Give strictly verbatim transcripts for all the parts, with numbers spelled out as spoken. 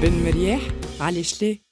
جبن مرياح علاش ليه؟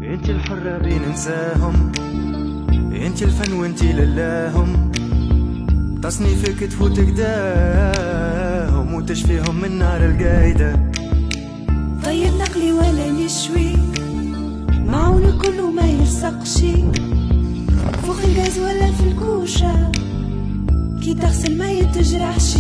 انت الحرة بين نساهم، انت الفن وانت للاهم، تصنيفك تفوت قداهم وتشفيهم من نار القايدة. طيب نقلي ولا نشوي، معون كله ما يلصقش، فوق الغاز ولا في الكوشة، كي تغسل ما يتجرحش.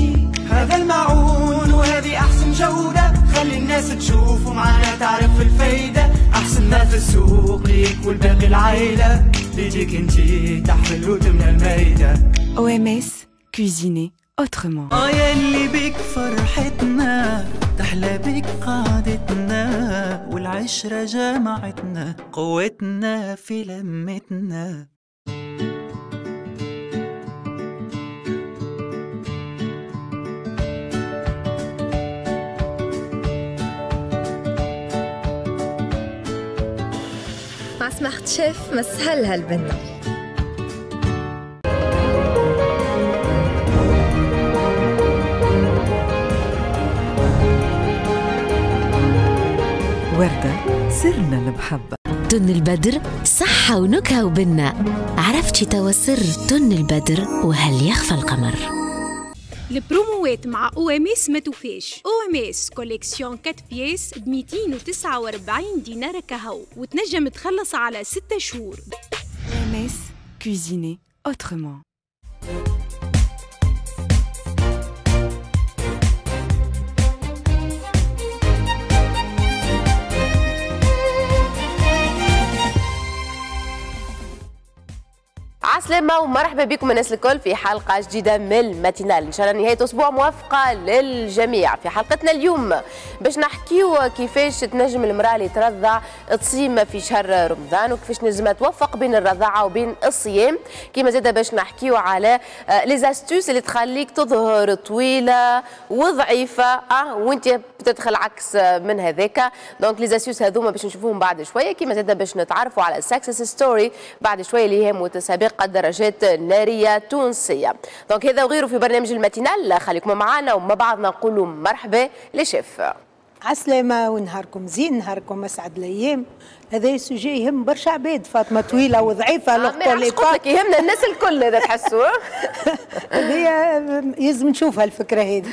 هذا المعون وهذه أحسن جودة، خلي الناس تشوف ومعانا تعرف الفايدة. أحسن ما في السوق ليك والباقي العيلة، بيديك انتي تحمل وتمنى المايدة. أو إم إس cuisiner autrement. آه يلي بك فرحتنا، تحلى بك قعدتنا، والعشرة جمعتنا، قوتنا في لمتنا. مع سماحة شيف مسهل هالبنة. وردة سرنا المحبة. تن البدر صحة ونكهة وبنة. عرفتي توا سر تن البدر وهل يخفى القمر؟ البروموات مع OMS ما توفاش. OMS collection أربعة pièces ب مئتين وتسعة وأربعين دينار كهو، وتنجم تخلص على ستة شهور. OMS cuisiner autrement. عسلامة ومرحبا بكم الناس الكل في حلقة جديدة من ال matinale. إن شاء الله نهاية أسبوع موفقة للجميع. في حلقتنا اليوم باش نحكيو كيفاش تنجم المرأة اللي ترضع تصيم في شهر رمضان، وكيفاش نجم توفق بين الرضاعة وبين الصيام. كيما زادا باش نحكيو على les astuces اللي تخليك تظهر طويلة وضعيفة اه وانت بتدخل عكس من هذاك. donc les astuces هذوما باش نشوفوهم بعد شوية. كيما زادا باش نتعرفوا على success story بعد شوية اللي هي متسابقة درجات نارية تونسية. donc هذا وغيره في برنامج ال matinale، خليكم معنا ومع بعضنا نقولوا مرحبا لشيف. عسلامة ونهاركم زين، نهاركم اسعد الايام. هذا sujet يهم برشا عباد، فاطمة طويلة وضعيفه. قلت لك يهمنا الناس الكل هذا تحسوا. هذه لازم نشوفها الفكرة هذه.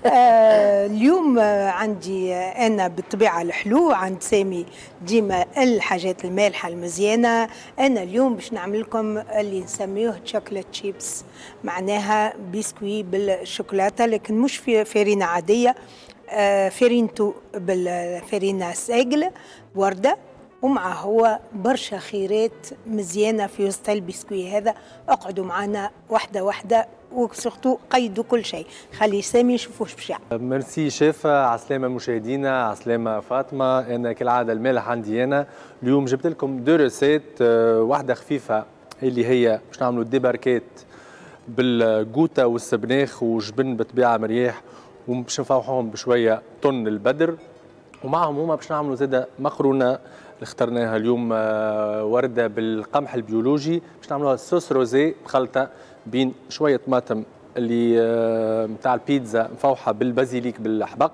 آه اليوم عندي انا بالطبيعة الحلو، عند سامي ديما الحاجات المالحه المزيانه. انا اليوم باش نعمل لكم اللي نسميوه chocolate chips، معناها بسكوي بالشوكولاته، لكن مش في فرينه عادية، آه فرينتو بالفرينه seigle ورده، ومع هو برشا خيرات مزيانه في وسط البسكوي هذا. اقعدوا معنا واحدة واحدة و surtout قيدوا كل شيء، خلي سامي يشوفوا واش باش يعمل. merci chef، عسلامة مشاهدينا، عسلامة فاطمة. انا كالعادة المالح عندي انا اليوم جبت لكم deux recettes، واحدة خفيفة اللي هي باش نعملوا des barquettes بالقوطه والسبناخ وجبن بطبيعة مرياح، وباش نفوحوهم بشوية طن البدر، ومعهم هما باش نعملوا زاده مقرونة اللي اخترناها اليوم ورده بالقمح البيولوجي، باش نعملوها sauce rosée مخلطه بين شوية طماطم اللي نتاع البيتزا مفوحه بال basilic بالحبق،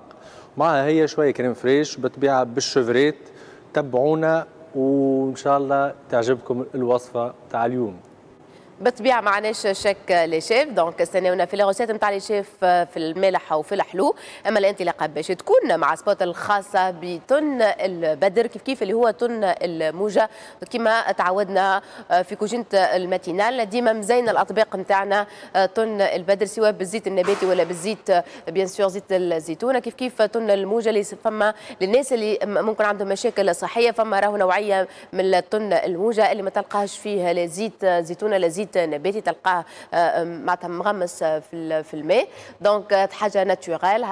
معها هي شوية crème fraîche بالطبيعة بال chevrettes. تبعونا وان شاء الله تعجبكم الوصفة تاع اليوم. بالطبيعة ما عناش شك les chefs، donc استناونا في les recettes نتاع les chefs في المالح وفي الحلو. اما الانطلاقة باش تكون مع spot الخاصة بتن البدر، كيف كيف اللي هو تن الموجه، كما تعودنا في كوجينه ال matinale ديما مزين الاطباق نتاعنا تن البدر، سواء بالزيت النباتي ولا بالزيت bien sûr زيت الزيتونه. كيف كيف تن الموجه اللي فما للناس اللي ممكن عندهم مشاكل صحية، فما راهو نوعية من التن الموجه اللي ما تلقاهش فيه لا زيت زيتونه لا زيت نباتي، تلقاه معناتها مغمس في في الماء، donc حاجة naturelle.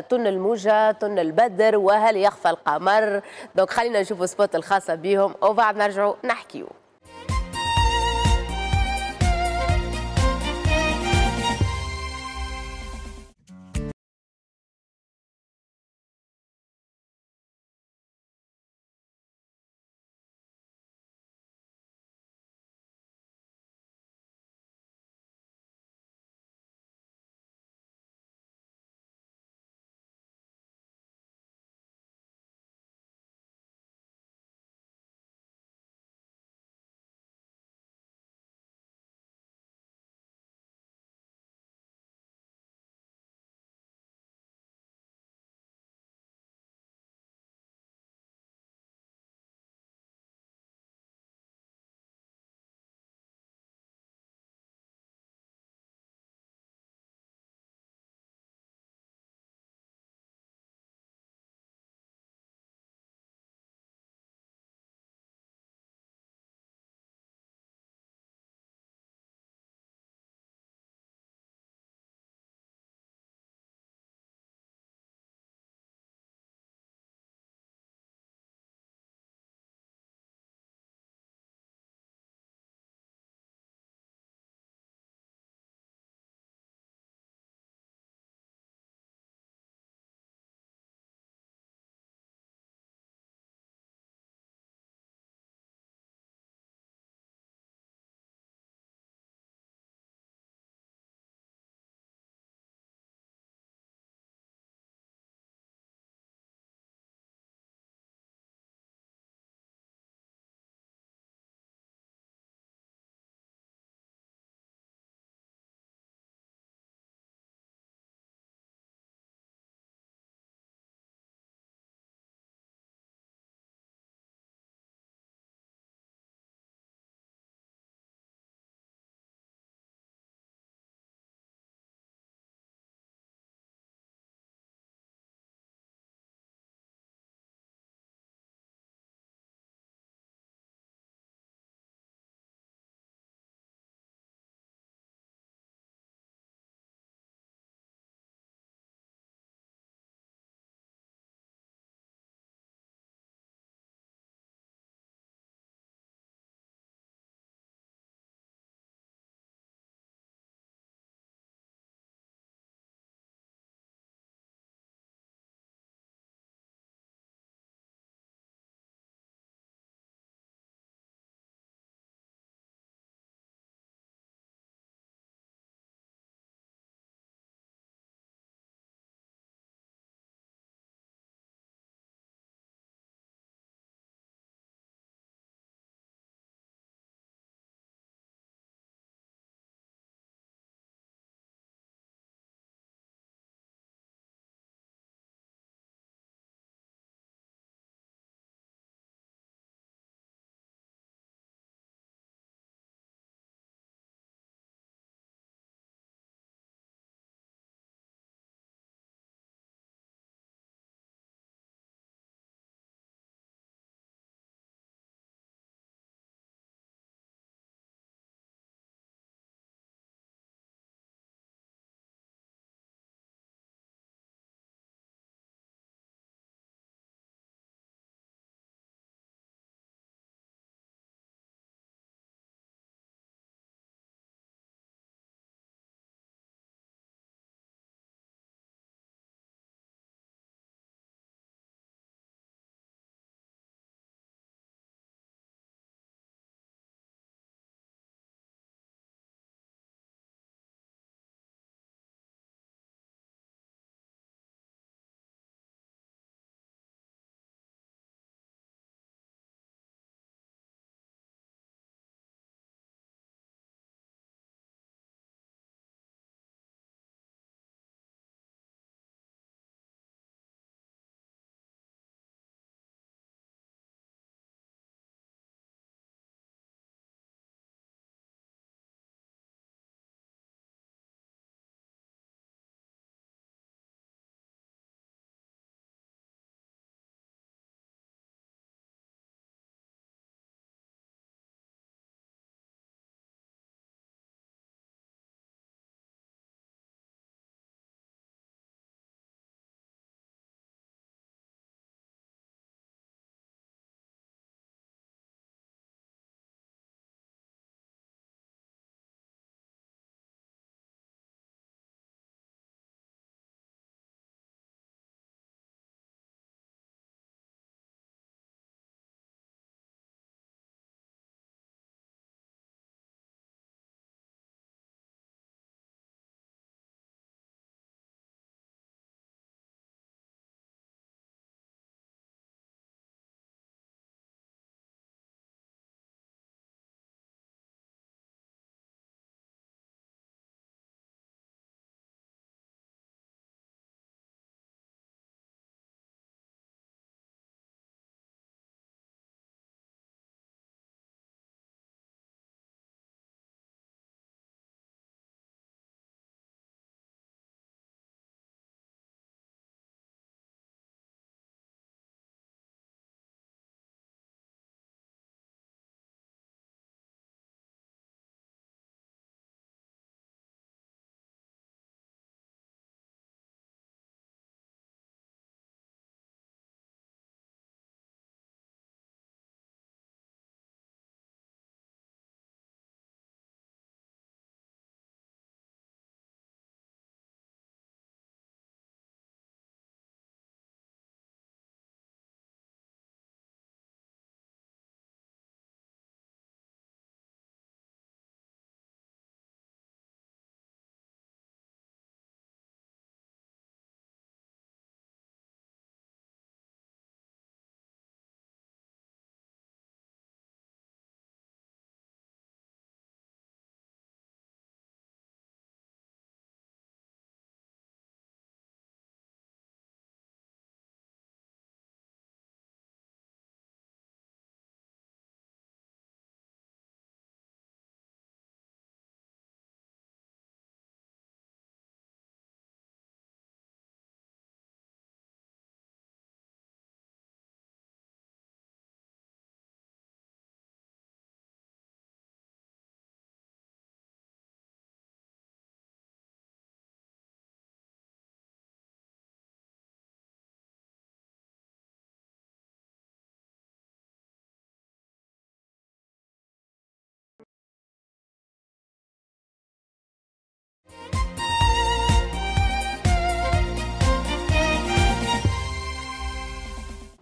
تن الموجه، تن البدر، وهل يخفى القمر. donc خلينا نشوفوا spot الخاصة بهم وبعد نرجعوا نحكيو.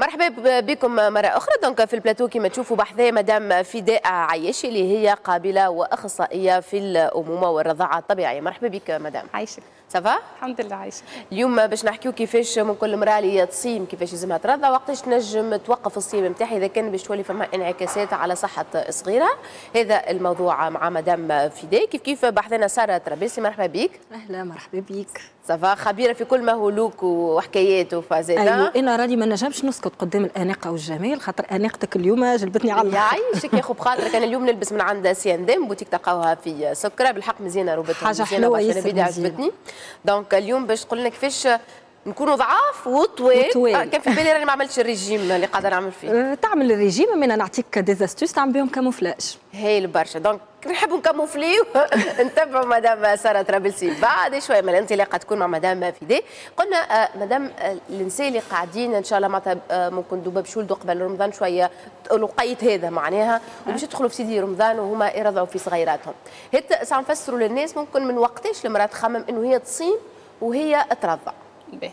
مرحبا بكم مرة أخرى. donc في البلاتو كما تشوفوا بحذايا مدام فداء عياشي اللي هي قابلة وأخصائية في الأمومة والرضاعة الطبيعية. مرحبا بك مدام. عايشك. ça va؟ الحمد لله عايشك. اليوم باش نحكيو كيفاش من كل امرأة اللي تصيم كيفاش لازمها ترضع، وقتاش تنجم توقف الصيام نتاعها إذا كان باش تولي فما انعكاسات على صحة صغيرة. هذا الموضوع مع مدام فداء. كيف كيف بحذانا سارة ترابيسي، مرحبا بك. أهلا، مرحبا بك. ça va، خبيرة في كل ما هو look وحكايات وفازات. أيوة، أنا راني ما نجمش نسكت قدام الأناقة والجمال، خاطر أناقتك اليوم جلبتني على الآخر. يعيشك يا خو بخاطرك. أنا اليوم نلبس من عند سي ان دي بوتيك، تلقاوها في سكرة، بالحق مزيانة روبتها، حاجة حلوة ياسر عجبتني. donc اليوم باش تقول لنا كيفاش نكونوا ضعاف وطوال. آه كان في بالي راني ما عملتش الريجيم اللي قادر نعمل فيه. أه تعمل الريجيم، من نعطيك des astuces تعمل بهم camouflage. هايل برشا. donc نحبوا نكاموفليو، نتبعوا مدام ساره ترابلسي بعد شوية من الانطلاقة تكون مع مدام فيدي. قلنا آه مدام، آه النساء اللي قاعدين ان شاء الله معناتها آه ممكن دوبا باش يولدوا قبل رمضان شويه، الوقيت هذا معناها، وباش يدخلوا في سيدي رمضان وهما يرضعوا في صغيراتهم، هات ساعة نفسروا للناس ممكن من وقتاش المراة تخمم انه هي تصيم وهي ترضع. باهي.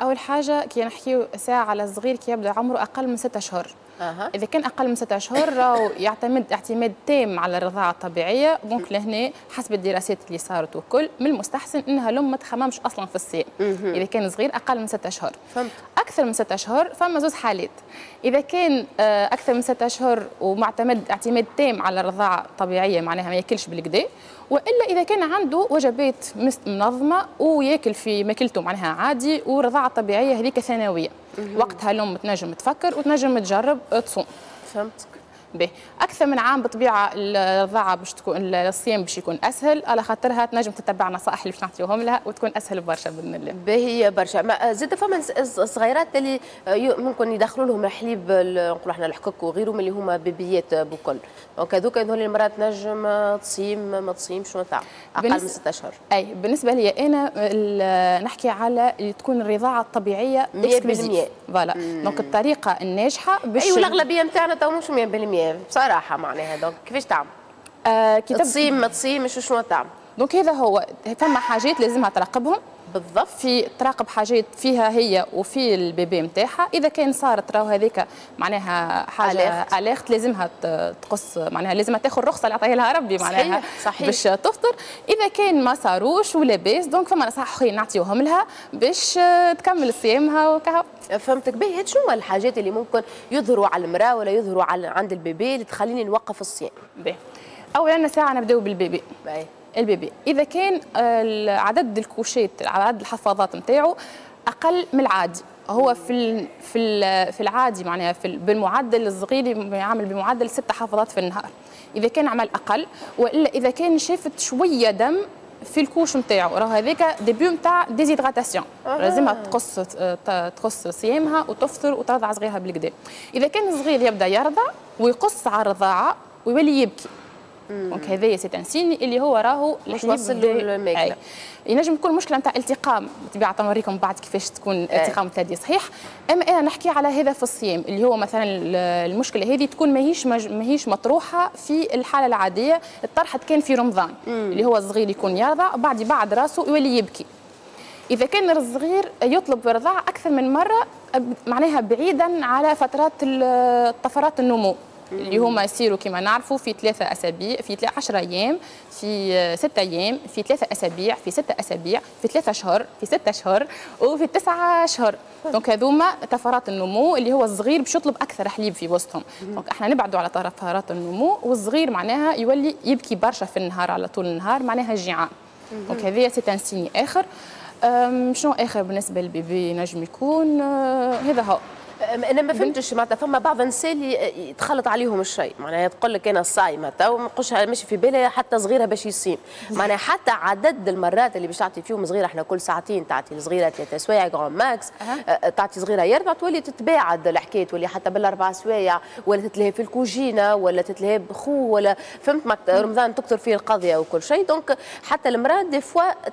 اول حاجة كي نحكيو ساعة على الصغير كي يبدا عمره اقل من ستة اشهر. أه. اذا كان اقل من ستة اشهر راهو يعتمد اعتماد تام على الرضاعة الطبيعيه. donc لهنا حسب الدراسات اللي صارت وكل، من المستحسن انها الام ما تخممش اصلا في الصيام اذا كان صغير اقل من ستة اشهر. فهمت. اكثر من ستة اشهر فما زوز حالات: اذا كان اكثر من ستة اشهر ومعتمد اعتماد تام على الرضاعة الطبيعيه، معناها ما ياكلش بالقدا، والا اذا كان عنده وجبات منظمة وياكل في ماكلته معناها عادي، والرضاعه الطبيعية هذيك ثانويه، وقتها الام تنجم تفكر وتنجم تجرب تصوم. فهمتك. باهي. اكثر من عام بطبيعة الرضاعة باش تكون، الصيام باش يكون اسهل، على خاطرها تنجم تتبع نصائح اللي باش نعطيوهم لها وتكون اسهل برشا باذن الله. باهي برشا. ما زاد فما صغيرات اللي ممكن يدخلوا لهم الحليب، نقولوا احنا الحكك وغيره، من اللي هما بيبيات بكل، donc هذوك يظهر المراة تنجم تصيم ما تصيمش، شنو تاع اقل من ستة اشهر؟ اي، بالنسبة لي انا نحكي على اللي تكون الرضاعة الطبيعية مية في المية. voilà، donc الطريقة الناجحة باش ايوه، الاغلبية نتاعنا تو مش مية في المية بصراحة معناها. donc كيفاش تعمل؟ آه كي تصيم ما تصيمش، شنو تعمل؟ donc هذا هو، فما حاجات لازمها تراقبهم. بالضبط. في تراقب حاجات فيها هي وفي ال bébé نتاعها. اذا كان صارت راهو هذيك معناها حاجة alerte، لازمها تقص، معناها لازمها تاخذ الرخصة اللي عطاها لها ربي معناها. صحيح. صحيح. باش تفطر. اذا كان ما صاروش ولاباس، donc فما نصائح اخرين نعطيوهم لها باش تكمل صيامها وكهو. فهمتك. باهي، شنو الحاجات اللي ممكن يظهروا على المراة ولا يظهروا على عند ال bébé اللي تخليني نوقف الصيام؟ باهي، اولا ساعة نبداو بال bébé. باهي. ال bébé اذا كان عدد الكوشات، عدد الحفاضات نتاعو اقل من العادي، هو في ال في ال في العادي معناها في بالمعدل الصغير يعمل بمعدل ست حفاضات في النهار، اذا كان عمل اقل، والا اذا كان شافت شوية دم في ال couche نتاعو، راه هذاك début نتاع déshydratation، لازمها تقص تقص صيامها وتفطر وترضع صغيرها بالقدا. اذا كان الصغير يبدا يرضع ويقص على الرضاعة ويولي يبكي، donc هذايا c'est un signe اللي هو راهو مش وصل له الماكله. ينجم يكون مشكلة نتاع التقام بالطبيعه، نوريكم بعد كيفاش تكون التقام الثدي صحيح. اما انا نحكي على هذا في الصيام، اللي هو مثلا المشكلة هذه تكون ماهيش ماهيش مطروحة في الحالة العاديه، الطرحة كان في رمضان. مم. اللي هو الصغير يكون يرضع، بعد يبعد راسه يولي يبكي. اذا كان الصغير يطلب رضاعه اكثر من مرة، معناها بعيدا على فترات طفرات النمو اللي هما يصيروا كما نعرفوا في ثلاثة أسابيع، في عشرة أيام، في ستة أيام، في ثلاثة أسابيع، في ستة أسابيع، في ثلاثة أشهر، في ستة أشهر، وفي تسعة أشهر. donc هذوما طفرات النمو اللي هو الصغير باش يطلب أكثر حليب في وسطهم. donc احنا نبعدوا على طفرات النمو، والصغير معناها يولي يبكي برشا في النهار، على طول النهار، معناها جيعان، donc هذه c'est un signe آخر. شنو آخر بالنسبة لل bébé نجم يكون؟ هذا هو. انا ما فهمتش، معناتها فما بعض النساء اللي يتخلط عليهم الشيء، معناها تقول لك انا صايمه تو، ما نقولش ماشي في بالها حتى صغيرة باش يصيم، معناها حتى عدد المرات اللي باش تعطي فيهم صغيره، احنا كل ساعتين تعطي الصغيره، ثلاثة سوايع grand max أه. تعطي صغيرة يرضع، تولي تتباعد الحكايه، تولي حتى بالاربع سوايع، ولا تتلهي في الكوجينه ولا تتلهي بخوه ولا فهمت، رمضان تكثر فيه القضية وكل شيء، donc حتى المراة des fois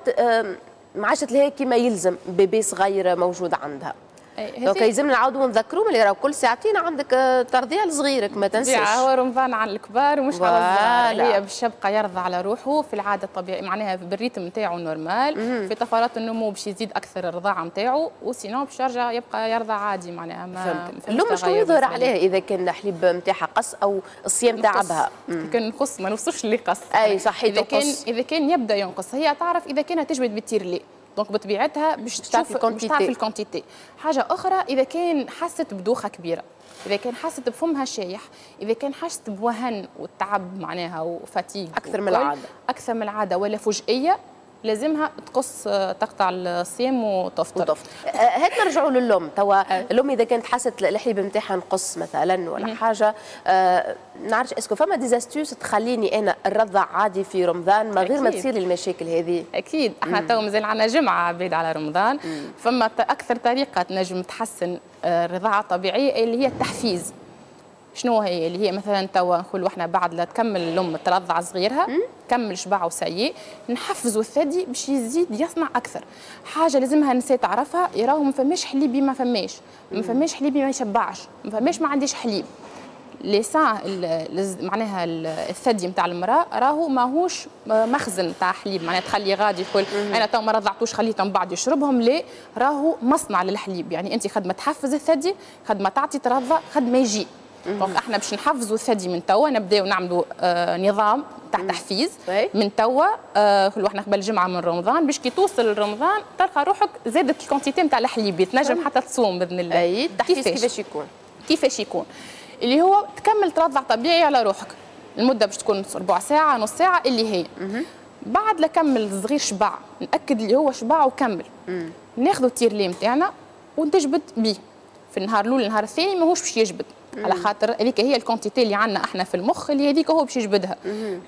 ما عادش تلهي كما يلزم bébé صغير موجود عندها. donc يلزمنا نعاودوا نذكروا اللي راهو كل ساعتين عندك ترضيع لصغيرك، ما تنساش. هو رمضان على الكبار ومش على الصغار، هي باش يبقى يرضع على روحه في العادة الطبيعية، معناها بال rythme نتاعو normal، في طفرات النمو باش يزيد اكثر الرضاعة نتاعو، و sinon باش يرجع يبقى يرضع عادي معناها. ما الام شنو يظهر عليها اذا كان الحليب نتاعها قص او الصيام تعبها؟ كان نقص ما نوصلش اللي قص. اي صحيح. اذا كان اذا كان يبدا ينقص هي تعرف اذا كانت تجبد بال tire-lait، donc بطبيعتها باش تشوف باش تعرف ال quantité. حاجة اخرى اذا كان حست بدوخه كبيرة، اذا كان حست بفمها شايح، اذا كان حست بوهن والتعب معناها و fatigue اكثر من العادة، اكثر من العادة ولا فجئيه، لازمها تقص تقطع الصيام وتفطر. وتفطر. هات نرجعوا للام توا. الام اذا كانت حست الحليب نتاعها نقص مثلا ولا حاجة، آه نعرفش est-ce que فما des astuces تخليني انا نرضع عادي في رمضان ما غير ما تصير لي المشاكل هذه؟ اكيد، احنا تو مازال عندنا جمعه بعيد على رمضان. مم. فما اكثر طريقه تنجم تحسن الرضاعة الطبيعية اللي هي التحفيز. شنو هي؟ اللي هي مثلا توا نقولوا احنا بعد لا تكمل الام ترضع صغيرها، كمل شبع وسيء، نحفزوا الثدي باش يزيد يصنع اكثر. حاجة لازمها النساء تعرفها، يراو ما فماش حليبي ما فماش، ما فماش حليبي ما يشبعش، ما فماش ما عنديش حليب. les seins معناها الثدي نتاع المراة راهو ماهوش مخزن نتاع حليب، معناها تخلي غادي يقول انا تو ما رضعتوش خليته من بعد يشربهم، لا راهو مصنع للحليب. يعني انت خد ما تحفز الثدي، خد ما تعطي ترضع، خد ما يجي. donc احنا باش نحفزوا الثدي من توا نبداو نعملوا آه نظام تاع تحفيز من توا، آه احنا قبل جمعه من رمضان، باش كي توصل لرمضان تلقى روحك زادت ال quantité نتاع الحليب، تنجم حتى تصوم باذن الله. اي التحفيز كيفاش يكون؟ كيفاش يكون؟ اللي هو تكمل ترضع طبيعي على روحك، المدة باش تكون ربع ساعة نص ساعة اللي هي. بعد لا كمل الصغير شبع، ناكد اللي هو شبع وكمل، ناخذوا ال tire-lait نتاعنا ونتجبد بيه في النهار الاول النهار الثاني ماهوش باش يجبد، على خاطر هذيك هي ال quantité اللي عندنا احنا في المخ اللي هذيك هو باش يجبدها.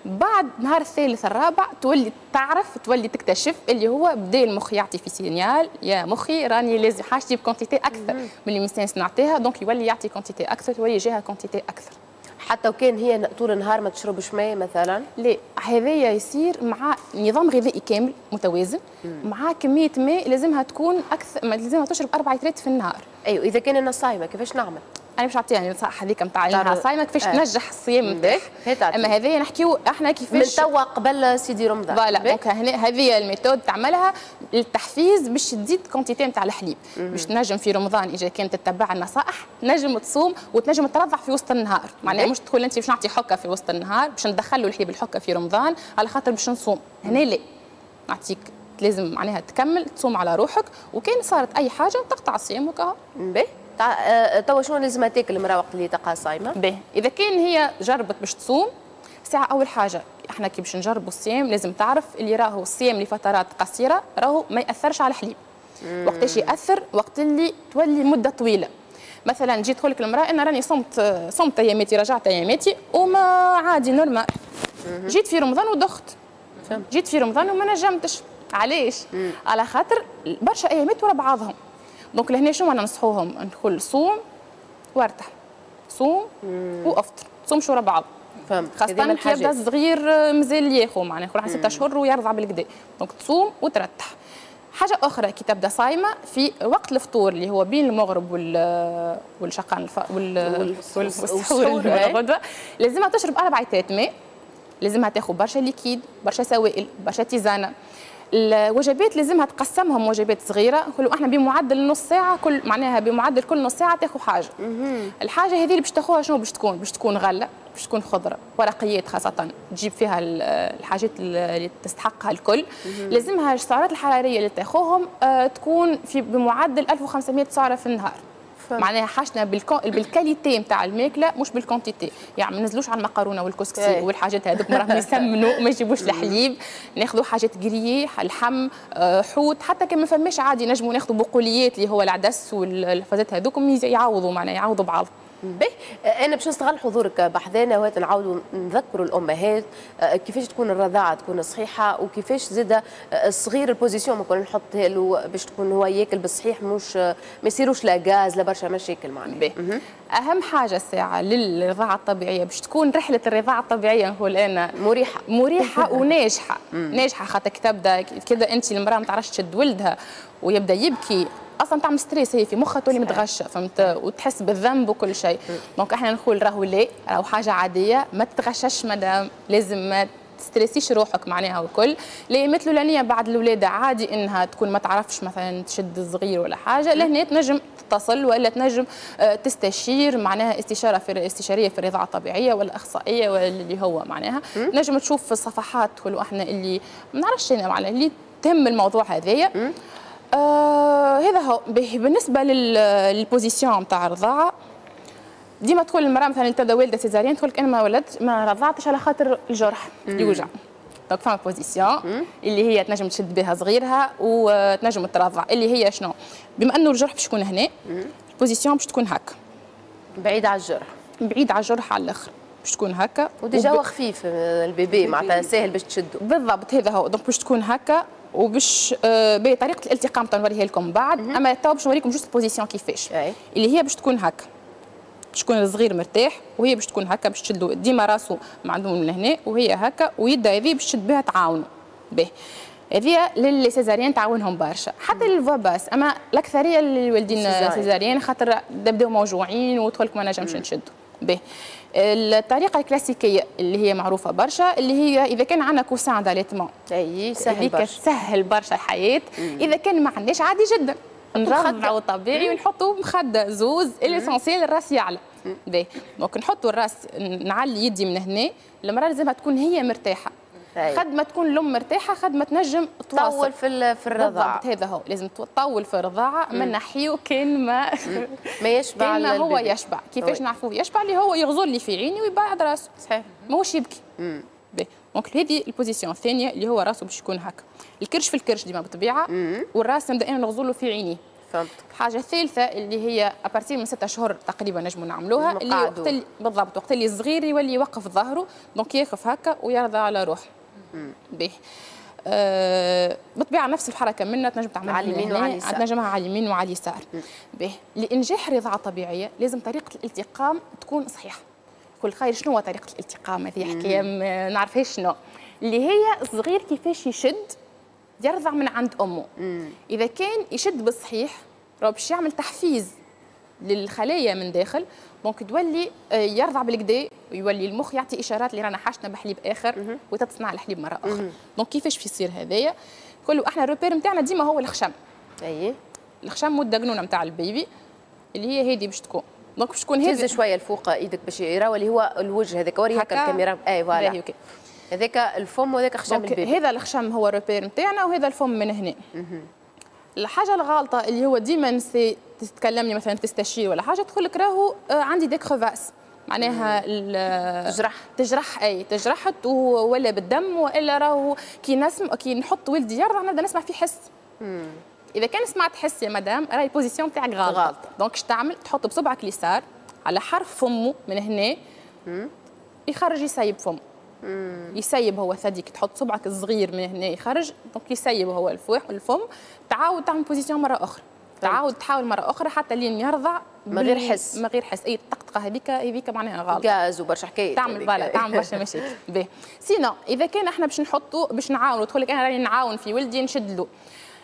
بعد نهار الثالث الرابع تولي تعرف، تولي تكتشف اللي هو بدا المخ يعطي في signal، يا مخي راني لازم حاجتي ب quantité اكثر من اللي مستانس نعطيها، donc يولي يعطي quantité اكثر، تولي يجيها quantité اكثر. حتى وكان هي طول النهار ما تشربش ماء مثلا؟ لا، هذايا يصير مع نظام غذائي كامل متوازن، مع كمية ماء لازمها تكون اكثر، لازمها تشرب اربع لترات في النهار. ايوه، اذا كان انا صايمه كيفاش نعمل؟ انا باش نعطيها النصائح هذيك نتاع انها صايمه كيفاش آه. تنجح الصيام نتاعها. اما هذايا نحكيو احنا كيفاش من توا قبل سيدي رمضان. voilà، donc هنا هذه ال méthode تعملها للتحفيز باش تزيد quantité نتاع الحليب، باش تنجم في رمضان اذا كانت تتبع النصائح تنجم تصوم وتنجم ترضع في وسط النهار، معناها مش تقول انت باش نعطي حكه في وسط النهار باش ندخل له الحليب الحكة في رمضان على خاطر باش نصوم. هنا لا، نعطيك لازم معناها تكمل تصوم على روحك، وكان صارت اي حاجة تقطع الصيام وكا. باهي، توا شنو لازم تاكل المراة وقت اللي تلقاها صايمه؟ باهي، اذا كان هي جربت باش تصوم ساعة، اول حاجة احنا كي باش نجربوا الصيام لازم تعرف اللي راهو الصيام لفترات قصيرة راهو ما ياثرش على الحليب. وقتاش ياثر؟ وقت اللي تولي مده طويلة. مثلا جيت تقول لك المراة انا راني صمت صمت اياماتي، رجعت اياماتي وما عادي normal، جيت في رمضان ودخت، جيت في رمضان وما نجمتش. علاش؟ على خاطر برشا ايامات ورا بعضهم. donc لهنا شنو ننصحوهم؟ نقول صوم وارتاح، صوم وافطر، تصومش ورا بعض. فهمت. خاصة كي يبدا الصغير مازال ياخو معناها يخرج ستة اشهر ويرضع بالكدا، donc تصوم وترتاح. حاجة أخرى كي تبدا صايمة في وقت الفطور اللي هو بين المغرب وال والشقان الف... وال... والسحور الغدوة، لازمها تشرب أربع لترات ماء، لازمها تاخذ برشا liquide، برشا سوائل، برشا tisane. الوجبات لازمها تقسمهم وجبات صغيرة، نقولوا احنا بمعدل نص ساعة كل، معناها بمعدل كل نص ساعة تاخذ حاجة. الحاجة هذه اللي باش تاخذها شنو باش تكون؟ باش تكون غله، باش تكون خضرة، ورقيات خاصة تجيب فيها الحاجات اللي تستحقها الكل. لازمها السعرات الحرارية اللي تاخوهم آه تكون في بمعدل ألف وخمسمية سعره في النهار. معناها حاجتنا بال qualité نتاع الماكلة مش بال quantité، يعني ما ننزلوش على المقارونه والكسكسي والحاجات هذوك راهم يسمنوا وما يجيبوش الحليب. ناخذوا حاجات grillées، لحم، حوت، حتى كان ما فماش عادي نجموا ناخذوا بقوليات اللي هو العدس والفازات هذوك يعوضوا، معناها يعوضوا بعض. باهي، انا باش نستغل حضورك بحذانا وقت نعاودوا نذكروا الامهات كيفاش تكون الرضاعة تكون صحيحه، وكيفاش زاده الصغير ال position ممكن نحط له باش تكون هو ياكل بالصحيح، مش ما يصيروش لا غاز لا برشا مشاكل معناها. اهم حاجة الساعة للرضاعه الطبيعية باش تكون رحله الرضاعة الطبيعية نقول انا مريحه مريحه وناجحة. ناجحة خاطر كي تبدا كده انت المراة ما تعرفش تشد ولدها ويبدا يبكي، اصلا تعمل stress هي في مخها، تولي متغشه، فهمت، وتحس بالذنب وكل شيء. donc احنا نقول راهو لا، راهو حاجة عاديه، ما تتغشش مدام، لازم ما تستريسيش روحك معناها وكل. ليامات الاولانية بعد الولادة عادي انها تكون ما تعرفش مثلا تشد الصغير ولا حاجه، لهنا تنجم تتصل والا تنجم آه، تستشير، معناها استشاره في استشارية في الرضاعة الطبيعية ولا اخصائية ولا اللي هو معناها تنجم تشوف في الصفحات كل احنا اللي ما نعرفش انا معناها اللي تهم الموضوع هذايا. آه هذا هو. بالنسبة لل position نتاع الرضاعه، ديما تقول المراة مثلا تبدا والده césarienne، تقول لك انا ما ولدت ما رضعتش على خاطر الجرح يوجع. donc فما position اللي هي تنجم تشد بها صغيرها وتنجم ترضع، اللي هي شنو؟ بما انه الجرح باش يكون هنا، ال position باش تكون هكا. بعيد على الجرح. بعيد على الجرح على الاخر، باش تكون هكا. و déjà هو خفيف ال bébé، معناتها ساهل باش تشدو. بالضبط، هذا هو. donc باش تكون هكا وباش آه بطريقة الالتقام تنوريها لكم بعد، اما تو باش نوريكم juste ال position كيفاش. أي. اللي هي باش تكون هكا، باش يكون الصغير مرتاح، وهي باش تكون هكا، باش تشدو ديما راسه معدوم من هنا وهي هكا، ويدها هذه باش تشد بها تعاونوا به. هذه لل césariennes تعاونهم برشا، حتى لل voie basse، اما الاكثرية اللي والدين césarienne خاطر تبداو موجوعين وتقول ما نجمش نشدوا به. الطريقة الكلاسيكية اللي هي معروفة برشا، اللي هي اذا كان عندنا coussin d'allaitement. اي، سهل برشا. تسهل برشا الحياه. اذا كان ما عندناش، عادي جدا نرضعوا طبيعي ونحطوا مخده زوز، l'essentiel الراس يعلى. باهي، donc نحطوا الراس، نعلي يدي من هنا. المراة لازمها تكون هي مرتاحه، خد ما تكون الام مرتاحة خد ما تنجم تواصل تطول في في الرضاعه. بالضبط، هذا هو، لازم تطول في الرضاعه، ما نحيو كان ما ما يشبع. كان ما هو يشبع. كيفاش نعرفوه يشبع؟ اللي هو يغزر لي في عيني ويبعد راسه. صحيح، ماهوش يبكي. donc هذه ال position الثانيه، اللي هو راسه باش يكون هكا، الكرش في الكرش ديما بالطبيعه، والراس نبدا انا نغزر له في عينيه. فهمت. الحاجة الثالثة اللي هي à partir من ستة اشهر تقريبا نجموا نعملوها، اللي وقت اللي بالضبط وقت اللي الصغير يولي يوقف ظهره، donc يقف هكا ويرضع على روحه. باهي، آه بالطبيعة نفس الحركة منا تنجم تعملها على اليمين وعلى اليسار. تنجمها على اليمين وعلى اليسار. باهي، لانجاح الرضاعة الطبيعية لازم طريقه الالتقام تكون صحيحه. كل خير، شنو هو طريقه الالتقام هذه؟ حكاية ما نعرفهاش شنو اللي هي. الصغير كيفاش يشد يرضع من عند امه. مم. اذا كان يشد بالصحيح راه باش يعمل تحفيز للخلايا من داخل، donc تولي آه، يرضع بالقدا ويولي المخ يعطي اشارات اللي رانا حاجتنا بحليب اخر، وتتصنع الحليب مرة اخرى. donc كيفاش باش يصير هذايا كله؟ احنا ال repère نتاعنا ديما هو الخشم. اي الخشم والدقنونه نتاع ال bébé اللي هي هذه باش تكون، donc باش تكون هذه. تهز شوية الفوق ايدك باش يراو اللي هو الوجه هذاك، وري هكا الكاميرا، اي voilà، هذاك الفم وهذاك خشم ال bébé. هذا الخشم هو ال repère نتاعنا وهذا الفم من هنا. الحاجة الغالطه اللي هو ديما نسي تتكلمني مثلا تستشير ولا حاجه، تقول لك راهو آه، عندي des crevasses، معناها تجرح. تجرح، اي تجرحت ولا بالدم، والا راهو كي نسم كي نحط ولدي يرضع نبدا نسمع في حس. اذا كان سمعت حس يا مدام، راهي ال position تاعك غلط. donc اش تعمل؟ تحط بصبعك اليسار على حرف فمه من هنا، يخرج يسيب فمه، يسيب هو ثديك. تحط صبعك الصغير من هنا يخرج، donc يسيب هو الفوح الفم. تعاود تعمل position مرة اخرى، تعاود تحاول مرة اخرى حتى لين يرضع. من غير حس. من غير حس، اي الطقطقه هذيك هذيك معناها غلط. غاز وبرشا حكايات. تعمل voilà، تعمل برشا مشاكل. باهي، sinon اذا كان احنا باش نحطوا باش نعاونوا، تقول لك انا راني نعاون في ولدي نشد له.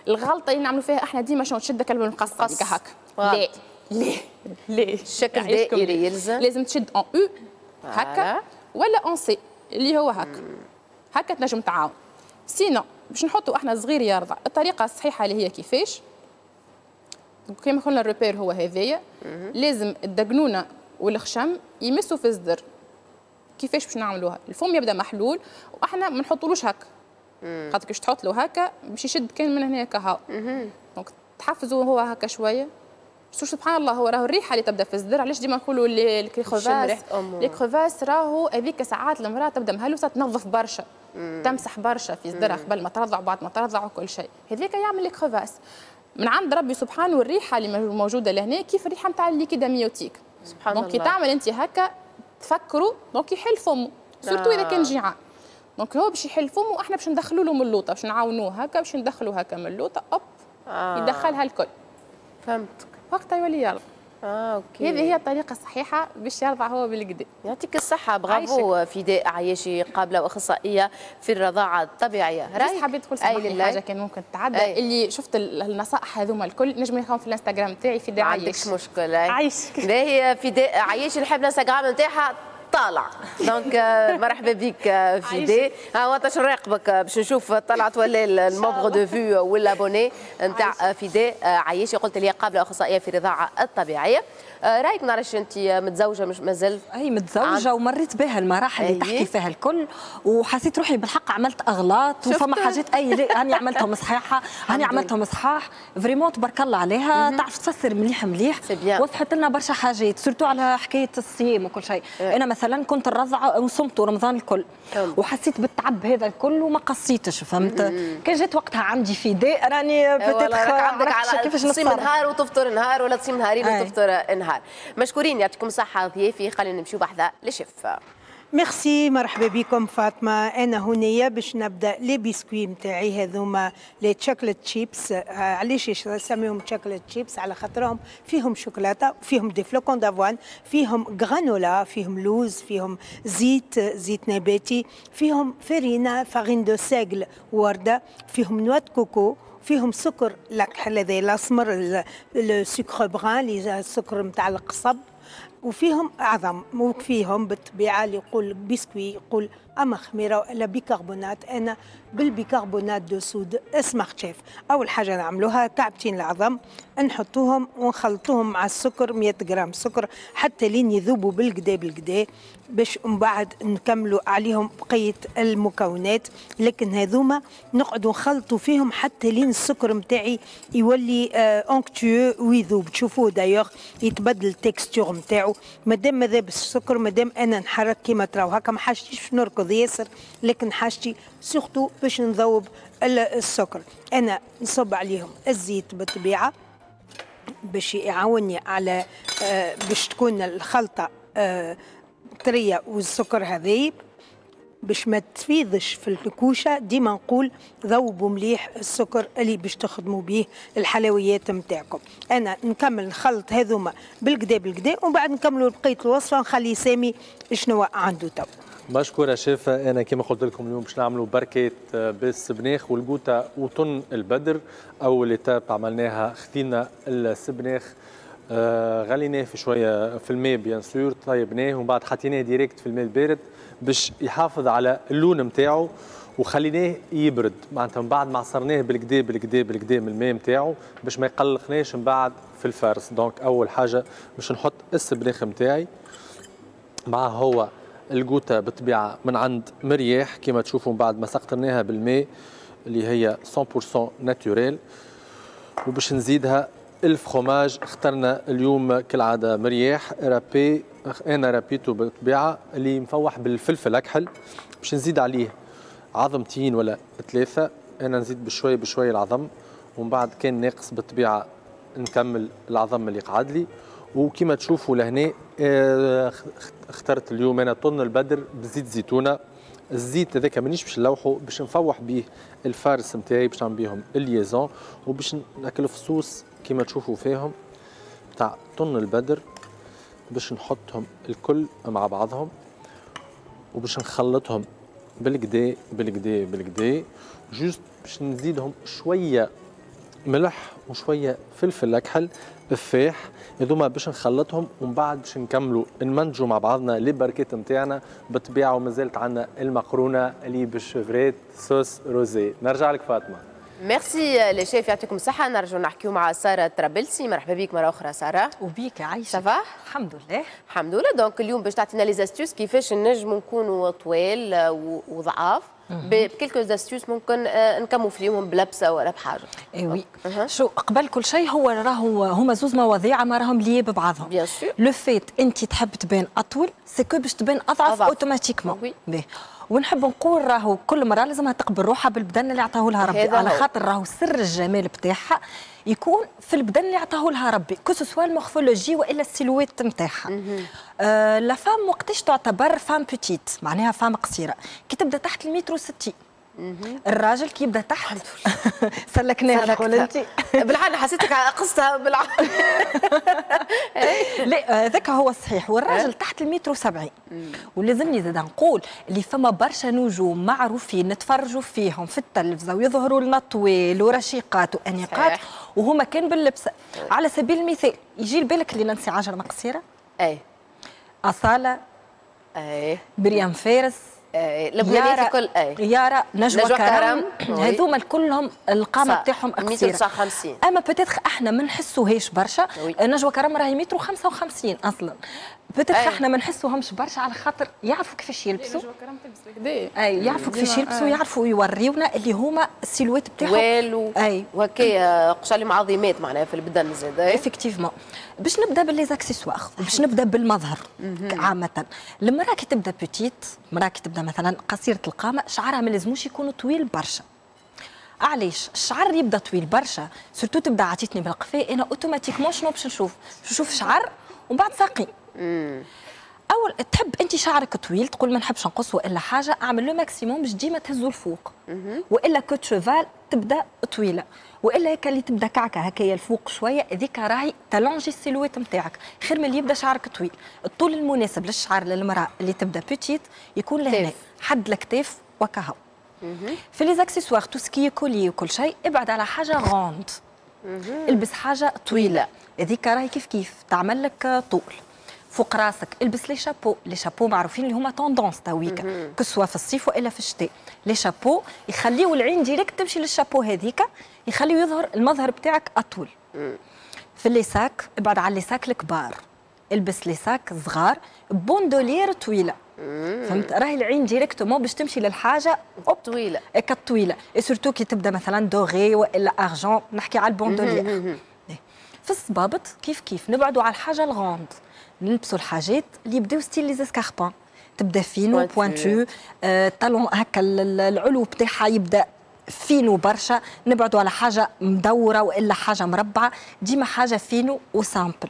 الغلطة اللي نعملوا فيها احنا ديما شنو؟ تشد كلب المقص هذيك هكا. لا ليه ليه؟ الشكل دائري يلزم. لازم تشد en U هكا ولا en C اللي هو هكا هكا، تنجم تعاون. sinon باش نحطوا احنا صغير يرضع، الطريقة الصحيحة اللي هي كيفاش؟ كما قلنا ال repère هو هذايا، لازم الدقنونه والخشم يمسوا في الصدر. كيفاش باش نعملوها؟ الفم يبدا محلول واحنا ما نحطولوش هكا، خاطر كيش تحط له هكا باش يشد كان من هنا كهو. donc تحفزوا هو هكا شويه. شو سبحان الله، هو راهو الريحة اللي تبدا في الصدر. علاش ديما نقولوا les crevasses؟ les crevasses راهو هذيك ساعات المراة تبدا مهلوسه، تنظف برشا، تمسح برشا في صدرها قبل ما ترضع وبعد ما ترضع وكل شيء، هذيك يعمل les crevasses من عند ربي سبحانه. والريحه اللي موجودة لهنا كيف الريحة نتاع ال liquide amniotique. سبحان الله. donc كي تعمل انت هكا تفكروا، donc يحل فمه، surtout اذا كان جيعان. donc هو باش يحل فمه واحنا باش ندخلوا له من اللوطه، باش نعاونوه هكا، باش ندخلوا هكا من اللوطه، hop آه. يدخلها الكل. فهمتك. وقتها يولي يرضع. اه OK، هذه هي الطريقة الصحيحة باش يرضع هو بالقدا. يعطيك الصحه، برافو فداء عياشي، قابله واخصائيه في الرضاعة الطبيعيه. رايك حبيت تقول سامحني حاجة كان ممكن تعدى. أي. اللي شفت النصائح هذوما الكل نجم يلقاهم في الانستغرام تاعي فداء عياشي. ما عندكش مشكله. عايشك. باهي، فداء عياشي نحب الانستغرام نتاعها طالع، donc مرحبا بك فداء. ها وقتاش نراقبك باش نشوف طلعت ولا ال nombre de vues ولا abonnés نتاع فداء عياشي. قلت لي قابله اخصائية في الرضاعة الطبيعيه. رايك نعرفش انت متزوجة مش مازلت؟ اي متزوجة ومريت بها المراحل اللي تحكي فيها الكل، وحسيت روحي بالحق عملت اغلاط وفما حاجات اي هاني عملتهم صحيحه، هاني عملتهم صحاح. vraiment تبارك الله عليها، تعرف تفسر مليح مليح، وضحت لنا برشا حاجات surtout على حكاية الصيام وكل شيء. انا مثلا كنت نرضع وصمت رمضان الكل وحسيت بالتعب هذا الكل وما قصيتش، فهمت؟ كان جات وقتها عندي فداء راني peut-être عندك على كيفاش تصيم نهار وتفطر نهار ولا تصيم نهارين وتفطر نهار. مشكورين، يعطيكم الصحة ضيافي. خلينا نمشيو بحذا لشيف. ميرسي، مرحبا بكم فاطمه. انا هنيه باش نبدا les biscuits نتاعي هذوما les chocolate chips. علاش نسميهم chocolate chips؟ على خاطرهم فيهم شوكولاته، فيهم des flocons d'avoine، فيهم غرانولا، فيهم لوز، فيهم زيت زيت نباتي، فيهم فرينه farine de seigle ورده، فيهم noix de coco، فيهم سكر الكحل هذا الاسمر le sucre brun اللي السكر نتاع القصب، وفيهم عظم، وفيهم بالطبيعة اللي يقول بسكوي يقول اما خميره ولا بيكربونات. انا بال bicarbonate de soude Smart Chef. اول حاجة نعملوها كعبتين العظم نحطوهم ونخلطوهم مع السكر مية غرام سكر حتى لين يذوبوا بالقدا بالقدا، باش من بعد نكملوا عليهم بقية المكونات. لكن هذوما نقعدوا نخلطوا فيهم حتى لين السكر نتاعي يولي onctueux ويذوب. تشوفوه d'ailleurs يتبدل ال texture نتاعو مادام ما ذاب السكر، مادام انا نحرك كيما تراو هكا. ما حاجتيش نركض ياسر، لكن حاجتي surtout باش نذوب السكر. انا نصب عليهم الزيت بالطبيعة باش يعاوني على آه باش تكون الخلطة آه طرية والسكر هذيب باش ما تفيضش في الكوشه. ديما نقول ذوبوا مليح السكر اللي باش تخدموا به الحلويات نتاعكم. انا نكمل نخلط هذوما بالقدا بالقدا ومن بعد نكملوا بقية الوصفه. نخلي سامي شنو عنده تو. مشكورة شيفة. أنا كما قلت لكم اليوم باش نعملوا barquettes بالسبناخ والقوتة وطن البدر. أول étape عملناها خذينا السبناخ آه غليناه في شوية في الماء bien sûr، طيبناه ومن بعد حطيناه direct في الماء البارد باش يحافظ على اللون نتاعو وخليناه يبرد، معناتها من بعد ما عصرناه بالقدا بالقدا بالقدا من الماء نتاعو باش ما يقلقناش من بعد في ال farce. donc اول حاجة باش نحط السبناخ نتاعي مع هو القوتة بالطبيعة من عند مرياح كما تشوفوا من بعد ما سقطناها بالماء اللي هي مية بالمية naturel، وباش نزيدها الفخوماج. اخترنا اليوم كالعادة مرياح râpé، انا رابيتو بالطبيعة اللي مفوح بالفلفل الاكحل. باش نزيد عليه عظمتين ولا ثلاثه، انا نزيد بشوي بشوي العظم ومن بعد كان ناقص بالطبيعة نكمل العظم اللي قعد لي. وكما تشوفوا لهنا اه اخترت اليوم انا طن البدر بزيت زيتونه. الزيت هذاك مانيش باش نلوحه، باش نفوح به ال farce نتاعي باش نعمل بيهم ال liaison، وباش ناكل فصوص كما تشوفوا فيهم تاع طن البدر باش نحطهم الكل مع بعضهم وباش نخلطهم بالقدا بالقدا بالقدا. juste باش نزيدهم شوية ملح وشوية فلفل اكحل افاح، هذوما باش نخلطهم ومن بعد باش نكملوا نمنجوا مع بعضنا les barquettes نتاعنا بالطبيعه. ومازالت عندنا المقرونه اللي بال chèvre sauce rosée. نرجع لك فاطمه. merci les chefs، يعطيكم الصحة. نرجع نحكيو مع سارة ترابلسي. مرحبا بك مرة أخرى سارة. وبيك عايشة. ça va؟ الحمد لله. الحمد لله. donc اليوم باش تعطينا les astuces كيفاش نجموا نكونوا طوال وضعاف ب quelques astuces ممكن نكموفليهم بلبسه ولا بحاجه. اي oui، شو قبل كل شيء هو راهو هما زوز مواضيع ما راهم liés ببعضهم. bien sûr. le fait انت تحب تبان اطول c'est que باش تبان اضعف automatiquement. oui. ونحب نقول راهو كل مرأة لازمها تقبل روحها بالبدن اللي عطاه لها ربي، على خاطر راهو سر الجمال بتاعها يكون في البدن اللي عطاه لها ربي، que ce soit ال morphologie والا ال silhouette نتاعها. آه la femme وقتاش تعتبر femme petite، معناها femme قصيره؟ كي تبدا تحت المترو ستين. الراجل كي يبدا تحت سلكناها تقول انت بالعانه، حسيتك قصتها بالعانه. لا هذاك هو الصحيح، والراجل تحت المتر وسبعين. ولازمني زاد نقول اللي فما برشا نجوم معروفين نتفرجوا فيهم في التلفزة ويظهروا لنا طويل ورشيقات وانيقات وهما كان باللبسه. على سبيل المثال يجي لبالك اللي نانسي عجرم قصيرة، اي اصاله، اي مريم فارس، لبنانيات الكل، اي يارا، نجوى كرم، هذوما كلهم القامة بتاعهم قصيرة مية وتسعة وخمسين. اما peut-être احنا ما نحسوهاش برشا. نجوى كرم راهي متر وخمسة وخمسين اصلا، peut-être احنا ما نحسوهمش برشا على خاطر يعرفوا كيفاش يلبسوا. نجوى كرم تلبس بالكدا، اي يعرفوا كيفاش يلبسوا، يعرفوا يوريونا اللي هما ال silhouette بتاعهم والو، اي وهكايا قشالي معظمات معناها في البدن زاد. effectivement باش نبدا ب les accessoires، باش نبدا بالمظهر عامة. المراة كي تبدا petite، المراة كي تبدا مثلا قصيرة القامة، شعرها ما لازموش يكون طويل برشا. علاش الشعر يبدا طويل برشا؟ surtout تبدا عطيتني بالقفا، انا automatiquement شنو باش نشوف؟ نشوف شعر ومن بعد ساقين. اول تحب انت شعرك طويل تقول ما نحبش نقص والا حاجة، اعمل le maximum باش ديما تهزو الفوق، والا queue de cheval تبدا طويلة، والا هكا اللي تبدا كعكه هكايا الفوق شوية، هذيك راهي تالونجي ال silhouette نتاعك خير من اللي يبدا شعرك طويل. الطول المناسب للشعر للمراة اللي تبدا petite يكون لهنا حد الكتاف وكهو. في les accessoires tout ce qui est collier وكل شيء، ابعد على حاجة ronde، البس حاجة طويلة، هذيك راهي كيف كيف تعمل لك طول. فوق راسك البس les chapeaux، les chapeaux معروفين اللي هما tendance تويكا، que ce soit في الصيف والا في الشتاء. les chapeaux يخليو العين directe تمشي للشابو هذيك، يخليو يظهر المظهر بتاعك اطول. في les sacs ابعد على les sacs الكبار، البس les sacs صغار bandoulière طويلة. فهمت؟ راهي العين directement باش تمشي للحاجة طويلة هكا طويلة، et surtout كي تبدا مثلا doré والا argent، نحكي على ال bandoulière. في الصبابط كيف كيف نبعدوا على الحاجة ال ronde، نلبسوا الحاجات اللي يبداو style les escarpins، تبدا fine pointue، آه talon هكا العلو بتاعها يبدا fine برشا، نبعدوا على حاجة مدورة والا حاجة مربعه، ديما حاجة fine و simple.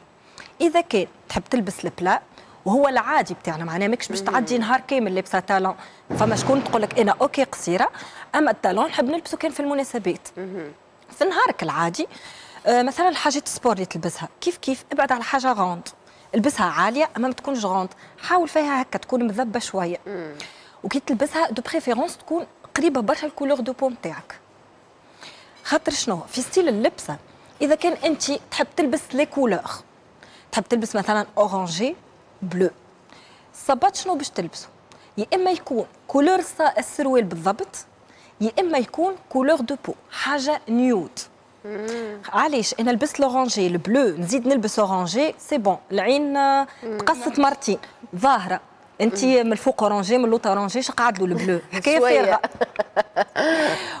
اذا كان تحب تلبس ال plat وهو العادي بتاعنا، معناها ماكش باش تعدي نهار كامل لابسه talon، فما شكون تقول لك انا OK قصيرة اما ال talon نحب نلبسه كان في المناسبات. في نهارك العادي آه مثلا الحاجات ال sport اللي تلبسها كيف كيف ابعد على حاجة ronde، البسها عالية اما ما تكونش ronde، حاول فيها هكا تكون مذبه شوية. وكي تلبسها de préférence تكون قريبه برشا ال couleur de peau نتاعك. خاطر شنو في style اللبسه، اذا كان انت تحب تلبس les couleurs، تحب تلبس مثلا orangé bleu، الصباط شنو باش تلبسه؟ يا اما يكون couleur السروال بالضبط، يا اما يكون couleur de peau حاجة nude. علاش انا لبست l'orangé ال bleu نزيد نلبس orangé، c'est bon العين تقصت مرتين ظاهره، انت من الفوق orangé من اللوطه orangé، شقعد له ال bleu حكاية فارغة.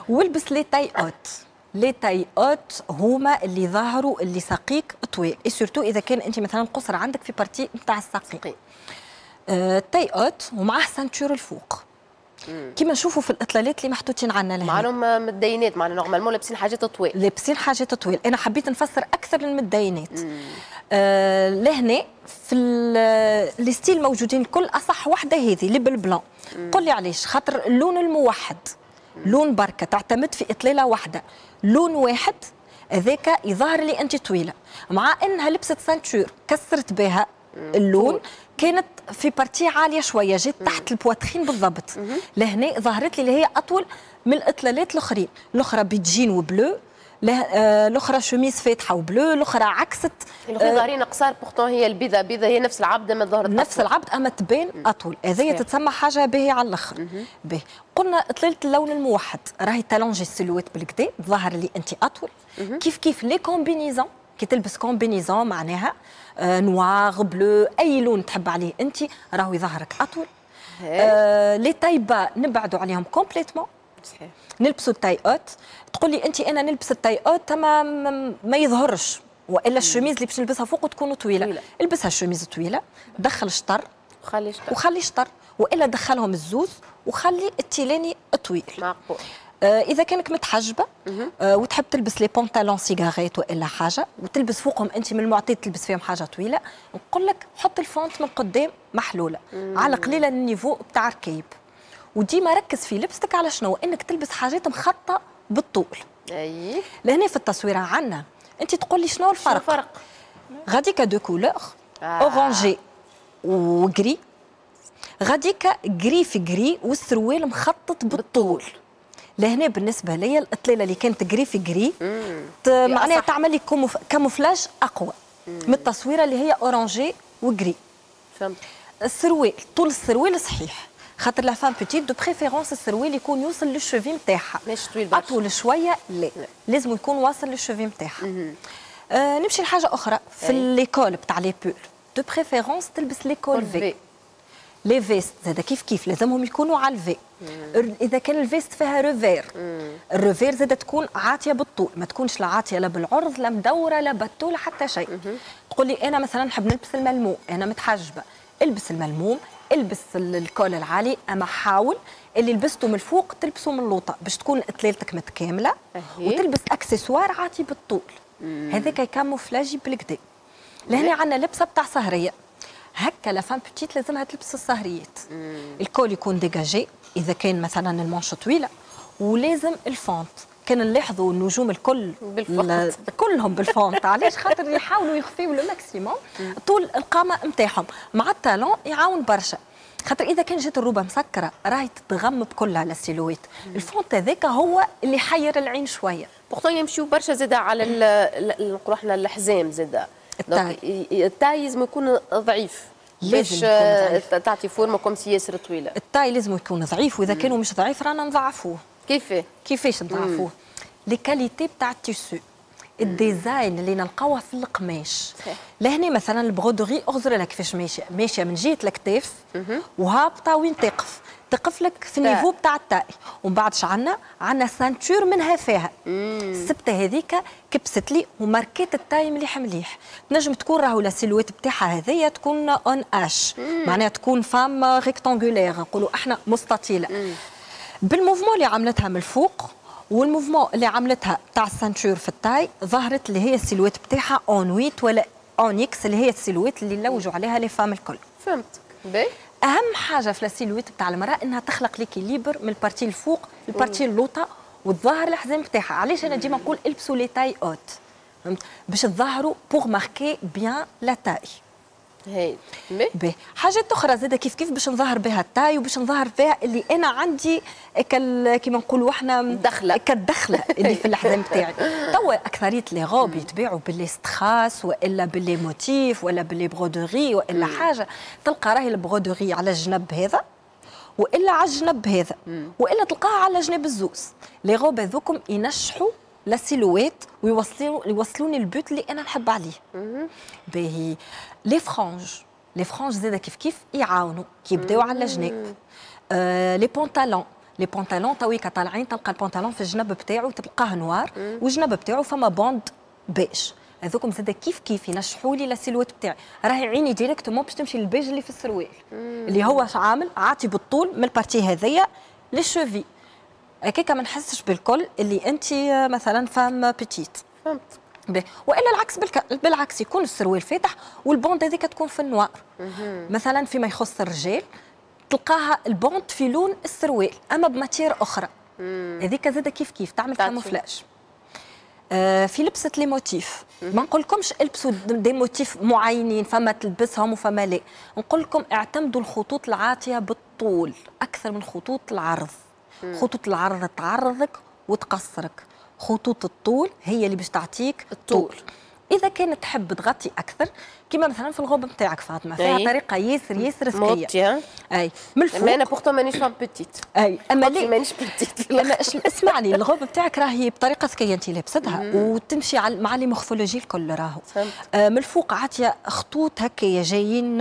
والبس les tailles hautes، les tailles hautes هما اللي ظهروا اللي ساقيك طويل، et surtout اذا كان انت مثلا قصر عندك في partie نتاع الساقين. آه taille haute ومعاه ceinture الفوق كيما نشوفوا في الاطلالات اللي محطوطين عندنا لهنا. معلوم متدينات، معنا normalement لابسين حاجات طويل، لابسين حاجات طويل. انا حبيت نفسر اكثر للمتدينات. آه لهنا في les styles موجودين الكل، اصح وحده هذه اللي بال blanc. قل لي علاش؟ خاطر اللون الموحد، لون بركة تعتمد في اطلالة واحدة، لون واحد هذاك يظهر لي انت طويلة، مع انها لبست ceinture كسرت بها اللون، كانت في partie عالية شوية جات تحت ال poitrine بالضبط. لهنا ظهرت لي اللي هي اطول من الاطلالات الاخرين، الاخرى ب jean و bleu، الاخرى شميس فاتحة و bleu، الاخرى عكست. الاخرى ظاهرين قصار pourtant هي البيضة بيضة، هي نفس العبد ما ظهرت نفس العبد اما تبان اطول. هذه تتسمى حاجة باهيه على الاخر. باهي قلنا اطلالة اللون الموحد راهي تالونجي ال silhouette بالكدا ظهر لي انت اطول. كيف كيف les combinaisons، كي تلبس combinaison معناها آه noir bleu اي لون تحب عليه انت راهو يظهرك اطول. آه les tailles basses نبعدوا عليهم complètement. صحيح. نلبسوا ال taille haute. تقول لي انت انا نلبس ال taille haute ما ما يظهرش، والا الشميز اللي باش نلبسها فوق تكون طويلة. طويلة. البسها الشميز طويلة، دخل شطر وخلي شطر، وخلي شطر، والا دخلهم الزوز وخلي التيلاني طويل. معقول. آه اذا كانك متحجبه آه وتحب تلبس les pantalons cigarette والا حاجة وتلبس فوقهم انت من المعتاد تلبس فيهم حاجة طويلة، نقول لك حط ال fente من قدام محلولة. مم. على قليله ال niveau بتاع الركيب. وديما ركز في لبستك على شنو؟ انك تلبس حاجات مخططه بالطول. اي لهنا في التصويره عندنا انت تقول لي شنو الفرق؟ شنو الفرق؟ غاديكا deux couleurs، orangé و gris، غاديكا gris في gris والسروال مخطط بالطول. لهنا بالنسبة ليا الاطلاله اللي كانت gris في gris معناها تعمل لي camouflage اقوى من التصويره اللي هي orangé و gris. فهمت. السروال طول السروال صحيح، خاطر la femme petite de préférence السروال يكون يوصل لل cheville نتاعها، مش طويل برشا. اطول شوية لا، لا. لازم يكون واصل لل cheville نتاعها. آه نمشي لحاجة اخرى في les cols بتاع les pulls، de préférence تلبس les cols V. les vestes زاد كيف كيف لازمهم يكونوا على ال V. اذا كان ال veste فيها revers، ال revers زاد تكون عاطيه بالطول، ما تكونش لا عاطيه لا بالعرض لا مدورة لا bateau لا حتى شيء. تقول لي انا مثلا نحب نلبس الملموم، انا متحجبه، البس الملموم، البس ال col العالي، اما حاول اللي لبسته من الفوق تلبسه من اللوطه باش تكون اطلالتك متكاملة، وتلبس اكسسوار عاطي بالطول، هذاك يكاموفلاجي بالكدا. لهنا عندنا لبسه بتاع سهريه، هكا la femme petite لازمها تلبس السهريات. ال col يكون dégagé اذا كان مثلا ال manche طويلة، ولازم ال fente. كان نلاحظوا النجوم الكل بال fente، كلهم بال fente. علاش؟ خاطر يحاولوا يخفيوا le maximum طول القامة نتاعهم. مع ال talon يعاون برشا، خاطر اذا كان جات الروبه مسكره راهي تتغم بكلها la silhouette. ال fente هذاك هو اللي حير العين شوية. pourtant يمشيو برشا زاده على نقولوا احنا الحزام زاده، ال taille ال taille لازم يكون ضعيف لازم يكون ضعيف تعطي forme comme si ياسر طويلة. ال taille لازم يكون ضعيف، واذا كانوا مش ضعيف رانا نضعفوه. كيف كيفاش نضعفوه؟ les qualités بتاع ال tissu، ال design اللي نلقاوه في القماش. لهنا مثلا ال broderie اغزر لها كيفاش ماشية، ماشية من جهة الكتاف وهابطه وين تقف، تقف لك في ال niveau بتاع ال taille. ومن بعد عندنا عندنا ceinture منها فيها السبته هذيك كبست لي وماركيت ال taille مليح مليح. تنجم تكون راهو la silhouette بتاعها هذيا تكون en H، معناها تكون femme rectangulaire، نقولوا احنا مستطيله. بال mouvement اللي عملتها من الفوق وال mouvement اللي عملتها تاع ال ceinture في ال taille، ظهرت اللي هي ال silhouette بتاعها en huit ولا en X، اللي هي ال silhouette اللي نلوجوا عليها les femmes الكل. فهمتك. باهي. اهم حاجة في ال silhouette بتاع المراة انها تخلق l'équilibre من ال partie الفوق ال partie اللوطه وتظهر الحزام بتاعها. علاش انا ديما نقول البسوا les tailles hautes؟ فهمت؟ باش تظهروا pour marquer bien la taille. هاي. باهي. حاجات اخرى زاده كيف كيف باش نظهر بها ال taille وباش نظهر بها اللي انا عندي كيما نقولوا احنا دخله كالدخله اللي في الحزام بتاعي. توا اكثرية les robes يتباعوا ب les strass والا ب les motifs ولا ب les broderies والا حاجة، تلقى راهي ال broderie على الجنب هذا والا على الجنب هذا والا تلقاها على جنب الزوز. les robes هذوكم ينشحوا la silhouette ويوصلوا يوصلوني ال but اللي انا نحب عليه. باهي. les franges، les franges زاده كيف كيف يعاونوا كي يبداو على الجناب. آه les pantalons، les pantalons تويكا طالعين تلقى البونطالون في الجنب بتاعو تلقاه noir والجنب بتاعو فما bande beige، هذوكم زاده كيف كيف ينشحوا لي la silhouette بتاعي. راهي عيني directement باش تمشي للبيج اللي في السروال اللي هو عامل عاطي بالطول من ال partie هذيا لل cheville، هكاك ما نحسش بالكل اللي انت مثلا femme petite. فهمت. والا العكس بالك... بالعكس يكون السروال فاتح وال bande هذيك تكون في ال noir. مثلا فيما يخص الرجال تلقاها ال bande في لون السروال اما ب matière اخرى، هذيك زاده كيف كيف تعمل camouflage. آه في لبسه les motifs، ما نقولكمش البسوا des motifs معينين فما تلبسهم وفما لا، نقول لكم اعتمدوا الخطوط العاطيه بالطول اكثر من خطوط العرض. خطوط العرض تعرضك وتقصرك، خطوط الطول هي اللي باش تعطيك الطول. اذا كانت تحب تغطي اكثر كيما مثلا في الغوب نتاعك فاطمة فيها طريقه ياسر ياسر ذكية. اي من الفوق. انا pourtant مانيش femme petite. اي اما ليه مانيش petite؟ اما اسمعني، الغوب نتاعك راهي بطريقة ذكية انت لابستها وتمشي على مع les morphologies الكل راهو. آه من الفوق عاطيه خطوط هكايا جايين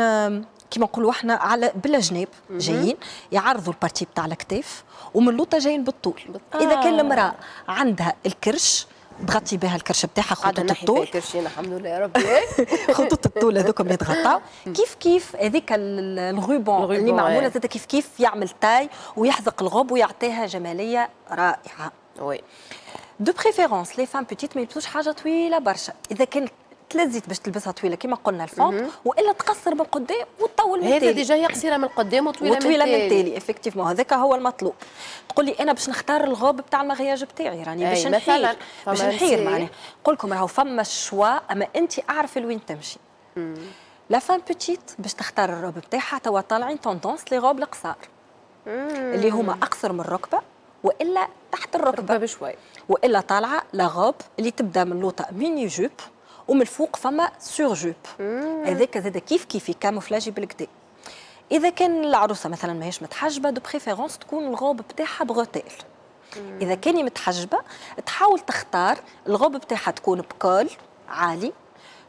كيما نقولوا احنا على بالجناب جايين يعرضوا ال partie بتاع الكتاف، ومن اللوطه جايين بالطول. آه. اذا كان المراة عندها الكرش تغطي بها الكرش بتاعها خطوط الطول. الكرش الحمد لله يا ربي. خطوط الطول هذوك اللي يتغطاو كيف كيف هذيك ال ruban اللي معمولة زاد كيف كيف يعمل taille ويحزق الغوب ويعطيها جمالية رائعة. oui. de préférence les femmes petites ما يلبسوش حاجة طويلة برشا. اذا كان تلزيت باش تلبسها طويلة كما قلنا ال fente، والا تقصر من قدام وتطول من التالي. هذا déjà هي قصيرة من قدام وطويلة, وطويلة من التالي. effectivement هذاك هو المطلوب. تقول لي انا باش نختار الغوب بتاع ال mariage بتاعي، راني باش نحير باش نحير معناها. نقول لكم راهو فما ال choix، اما انت اعرف لوين تمشي. la femme petite باش تختار الروب بتاعها، توا طالعين tendance les robes القصار اللي هما اقصر من الركبة والا تحت الركبة بشوي، والا طالعه la robe اللي تبدا من لوطه mini-jupe ومن الفوق فما surjupe. هذاك زاد كيف كيف camouflagé بالكدا. اذا كان العروسة مثلا ماهيش متحجبه، de préférence تكون الغوب بتاعها bretelles. اذا كان متحجبه تحاول تختار الغوب بتاعها تكون ب col عالي،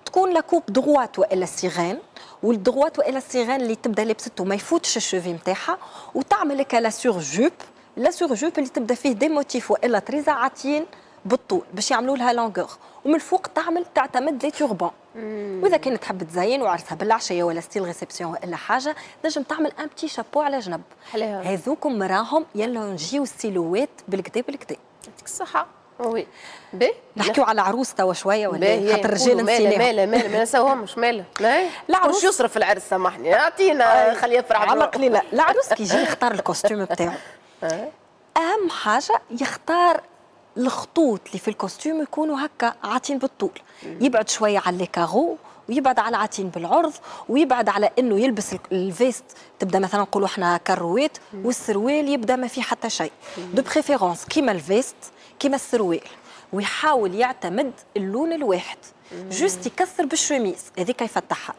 تكون la coupe droite والا sirène، وال droite والا ال sirène اللي تبدا لابسته ما يفوتش ال cheville نتاعها، وتعمل لك la surjupe. la surjupe اللي تبدا فيه des motifs والا طريزه عاطيين بالطول باش يعملوا لها longueur، ومن الفوق تعمل تعتمد les turbans. واذا كانت تحب تزين وعرسها بالعشيه ولا style réception والا حاجة، تنجم تعمل un petit chapeau على جنب. هذوكم راهم يلا نجيو silhouette بالكدا بالكدا. يعطيك الصحة. oui باهي، نحكيو على العروس توا شوية ولا خاطر الرجال نسيناهم؟ مالا مالا ما نساوهمش مالا. العروس يصرف في العرس، سامحني اعطينا خليه يفرح. على قليله العروس كي يجي يختار ال costume بتاعو، اهم حاجة يختار الخطوط اللي في ال costume يكونوا هكا عاطين بالطول، يبعد شوية على les carreaux ويبعد على عاطين بالعرض، ويبعد على انه يلبس ال veste تبدا مثلا نقولوا احنا كرويت، والسروال يبدا ما فيه حتى شيء، de préférence كيما ال veste كيما السروال، ويحاول يعتمد اللون الواحد، juste يكسر بالشميز هذيك يفتحها،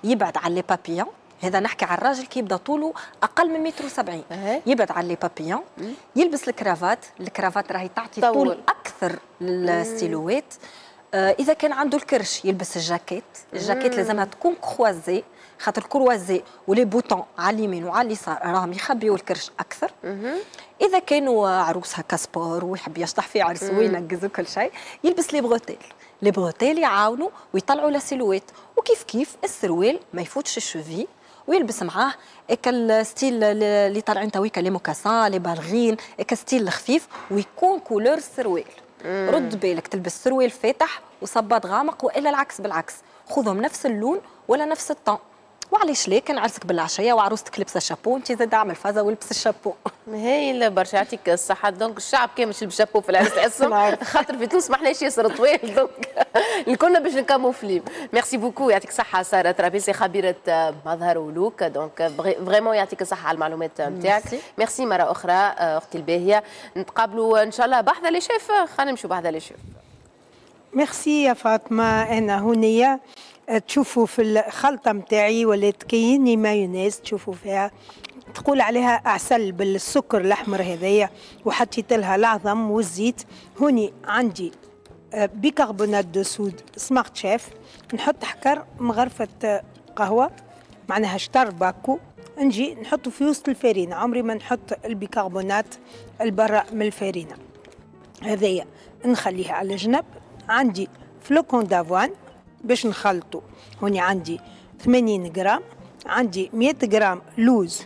يبعد على les papillons. هذا نحكي على الراجل كي يبدا طوله اقل من متر وسبعين، يبعد على les papillons، يلبس ال cravate. ال cravate راهي تعطي طول, طول اكثر لل silhouette. آه اذا كان عنده الكرش يلبس ال jaquette. ال jaquette لازمها تكون croisée، خاطر croisée و les boutons على اليمين وعلى اليسار راهم يخبيوا الكرش اكثر. اذا كانوا عروس هكا sport ويحب يشطح في عرس وينقز وكل شيء، يلبس les bretelles. les bretelles يعاونوا ويطلعوا la silhouette. وكيف كيف السروال ما يفوتش ال cheville، ويلبس معاه هكا ال style اللي طالعين تويكا، les mocassins، les ballerines، هكا style الخفيف، ويكون couleur السروال. رد بالك تلبس سروال فاتح وصباط غامق والا العكس بالعكس، خذهم نفس اللون ولا نفس ال ton. وعلاش لا، كان عرسك بالعشيه وعروستك لبسه شابو، انت زاد اعمل فازة والبس الشابو. هايل برشا، يعطيك الصحة. donc الشعب كامل يلبس شابو في العرس تحسهم، خاطر في تونس ما احناش ياسر طويل، donc الكلنا باش نكاموفلي. merci beaucoup، يعطيك الصحة ساره ترابيسي، خبيرة مظهر و look، donc vraiment يعطيك الصحة على المعلومات نتاعك. ميرسي مرة اخرى اختي الباهيه، نتقابلوا ان شاء الله بحذا les chefs. خلينا نمشوا بحذا les chefs. ميرسي يا فاطمه. انا هونيه تشوفوا في الخلطة متاعي ولات كايني مايونيز، تشوفوا فيها تقول عليها عسل بالسكر الاحمر هذايا، وحطيت لها العظم والزيت. هوني عندي bicarbonate de soude Smart Chef، نحط حكر مغرفه قهوه، معناها شطر باكو، نجي نحطه في وسط الفارينه. عمري ما نحط البيكربونات البرا من الفارينه. هذايا نخليها على جنب. عندي flocons d'avoine باش نخلطو، هوني عندي ثمانين غرام، عندي مية غرام لوز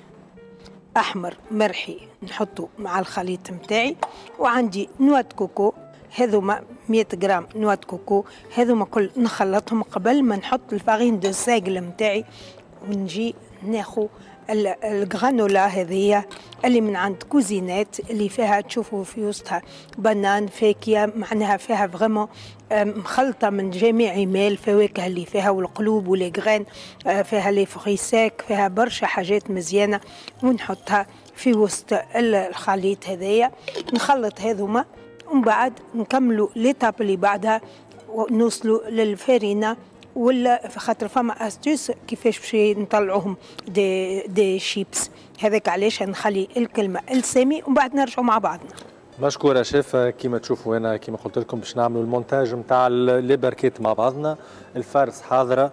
احمر مرحي نحطه مع الخليط متاعي، وعندي noix de coco، هذوما مية غرام noix de coco. هذوما كل نخلطهم قبل ما نحط ال farine de seigle متاعي، ونجي ناخو الغرانولا هذه اللي من عند كوزينات، اللي فيها تشوفوا في وسطها banane، فاكهه، معناها فيها vraiment مخلطه من جميع ما الفواكه اللي فيها والقلوب و les graines، فيها les fruits secs، فيها برشا حاجات مزيانه، ونحطها في وسط الخليط هذايا. نخلط هذوما ومن بعد نكملوا l'étape اللي بعدها ونوصلوا للفارينه، ولا خاطر فما astuce كيفاش باش نطلعوهم des des chips. هذاك علاش نخلي الكلمة لسامي ومن بعد نرجعوا مع بعضنا. مشكورة شيف. كيما تشوفوا هنا كيما قلت لكم باش نعملوا المونتاج نتاع les barquettes مع بعضنا. ال farce حاضره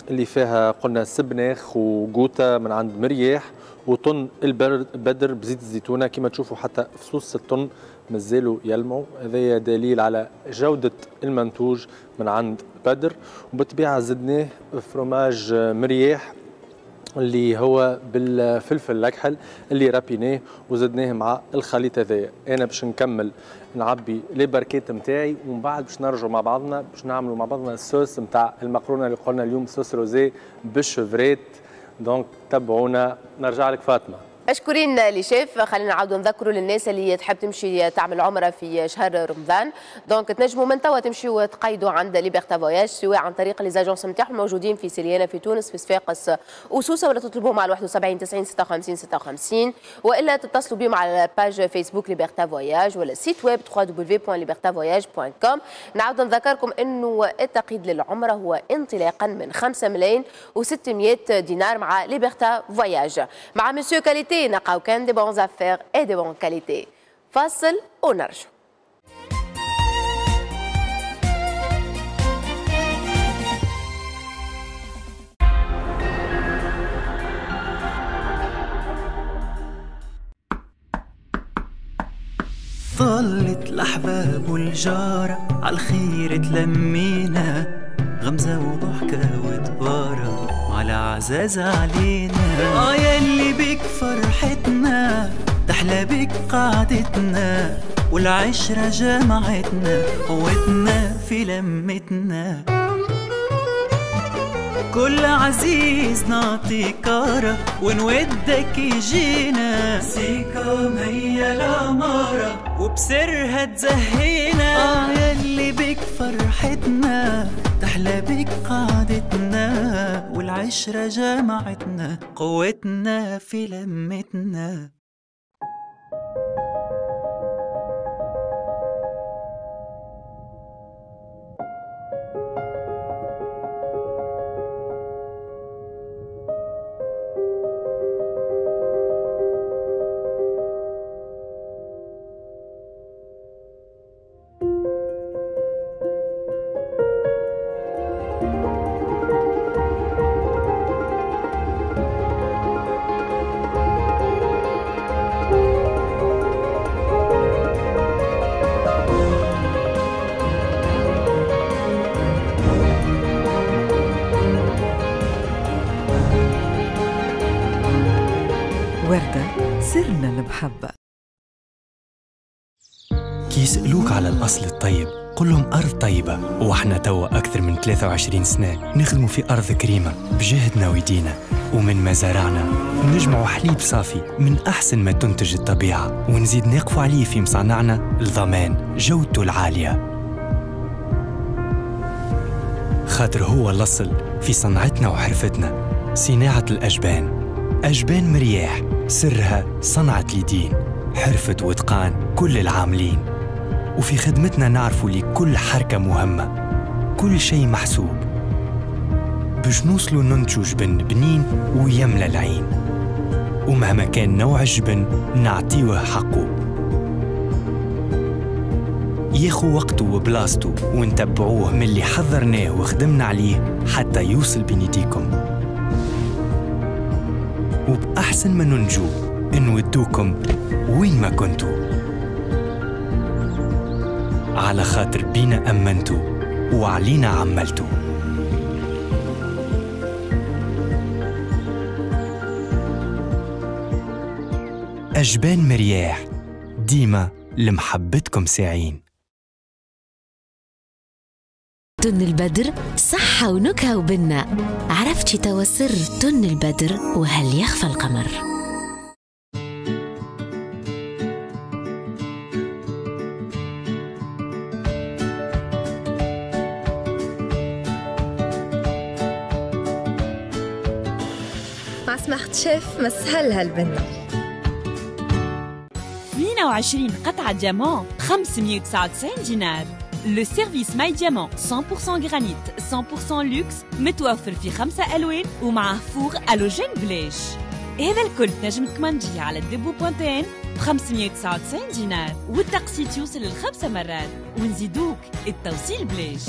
اللي فيها قلنا سبناخ وقوطه من عند مرياح وطن البدر بزيت الزيتونه. كما تشوفوا حتى فصوص الطن مازالوا يلمعوا، هذا دليل على جوده المنتوج من عند بدر. وبالطبيعه زدناه فرماج مرياح. اللي هو بالفلفل الاكحل اللي رابيناه وزدناه مع الخليط هذايا. انا باش نكمل نعبي les barquettes نتاعي ومن بعد باش نرجعوا مع بعضنا باش نعملوا مع بعضنا الصوص نتاع المقرونه اللي قلنا اليوم sauce rosée بال chevrettes. donc تبعونا، نرجع لك فاطمة. مشكورين les chefs. خلينا نعاودوا نذكروا للناس اللي تحب تمشي تعمل عمره في شهر رمضان، donc تنجموا من توا تمشيوا تقيدوا عند Liberta Voyages، سواء عن طريق les agences نتاعهم موجودين في سليانه في تونس في صفاقس وسوسه، ولا تطلبوهم على واحد وسبعين تسعين ستة وخمسين ستة وخمسين، والا تتصلوا بهم على page Facebook Liberta Voyages ولا site web دبليو دبليو دبليو دوت ليبرتا فواياج دوت كوم. نعاود نذكركم انه التقييد للعمرة هو انطلاقا من خمسة ملايين وستمائة دينار مع Liberta Voyages. مع Monsieur Qualité نلقاو كان des bonnes affaires et des bonnes qualités. فاصل ونرجع. طلت الأحباب والجارة عالخير تلمينا، غمزة وضحكة وتبارة على عزاز علينا. آه يلي بك فرحتنا تحلى بك قعدتنا، والعشرة جمعتنا قوتنا في لمتنا. كل عزيز نعطي كارة ونودك يجينا، سيكام هي العمارة وبسرها تزهينا. آه يلي بك فرحتنا تحلى بك قعدتنا، والعشرة جمعتنا قوتنا في لمتنا. وردة سرنا المحبة. كي يسألوك على الأصل الطيب قل لهم أرض طيبة، وإحنا توا أكثر من ثلاثة وعشرين سنة نخدموا في أرض كريمة بجهدنا ويدينا، ومن مزارعنا نجمعوا حليب صافي من أحسن ما تنتج الطبيعة، ونزيد نقفوا عليه في مصانعنا لضمان جودته العالية، خاطر هو الأصل في صنعتنا وحرفتنا. صناعة الأجبان، أجبان مرياح سرها صنعة اليدين، حرفة واتقان كل العاملين، وفي خدمتنا نعرفوا لكل حركة مهمة، كل شيء محسوب باش نوصلوا ننتجوا جبن بنين ويملى العين، ومهما كان نوع الجبن نعطيوه حقه، ياخو وقته وبلاصته، ونتبعوه من اللي حضرناه وخدمنا عليه حتى يوصل بين يديكم. وبأحسن ما ننجو نودوكم وين ما كنتوا، على خاطر بينا أمنتوا وعلينا عملتوا. أجبان مرياح ديما لمحبتكم ساعين. تن البدر صحة ونكهة وبنة، عرفتي توا سر تن البدر وهل يخفى القمر؟ مع Smart Chef مسهل هالبنة. اثنين وعشرين قطعة diamant خمسمية وتسعة وتسعين دينار. le service My Diamant مية بالمية جرانيت مية بالمية لوكس، متوفر في خمسة ألوان ومعه four halogène بلاش. هذا الكل تنجم تكمانديه على ديبو point tn ب خمسمية وتسعة وتسعين دينار، والتقسيط يوصل لخمسة مرات، ونزيدوك التوصيل بلاش.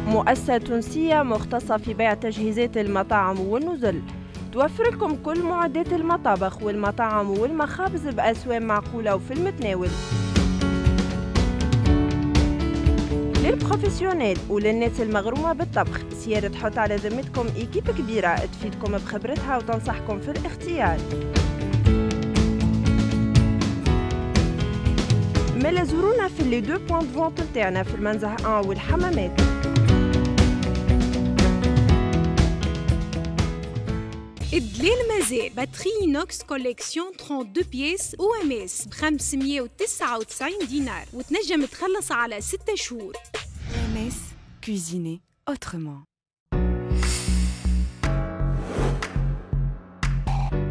مؤسسة تونسية مختصة في بيع تجهيزات المطاعم والنزل، توفر لكم كل معدات المطابخ والمطاعم والمخابز بأسوام معقولة وفي المتناول. لل professionnels وللناس المغرومة بالطبخ، سيارة تحط على ذمتكم équipe كبيرة تفيدكم بخبرتها وتنصحكم في الاختيار. مالا زورونا في les deux points de vente نتاعنا في المنزه واحد والحمامات. الدليل مازال batterie inox collection اثنين وثلاثين pièces OMS ب خمسمية وتسعة وتسعين دينار وتنجم تخلص على ستة شهور. OMS, cuisiner autrement.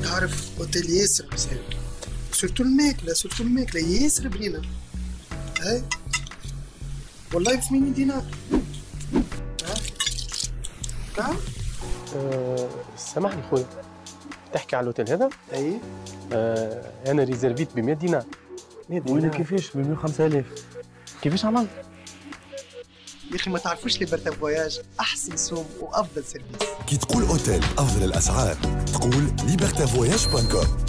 تعرف اوتيل ياسر مزيان، surtout الماكلة، surtout الماكلة ياسر بنينة. هاي والله ب ثمانين دينار. ها؟ أه سامحني خويا، تحكي على الاوتيل هذا؟ اي. أه انا réserv يت ب مية دينار. مية دينار وانا كيفاش ب مية وخمسة آلاف؟ كيفاش عملت؟ يا اخي ما تعرفوش Liberté Voyages احسن سوم وافضل service. كي تقول اوتيل افضل الاسعار تقول Liberté Voyages point com.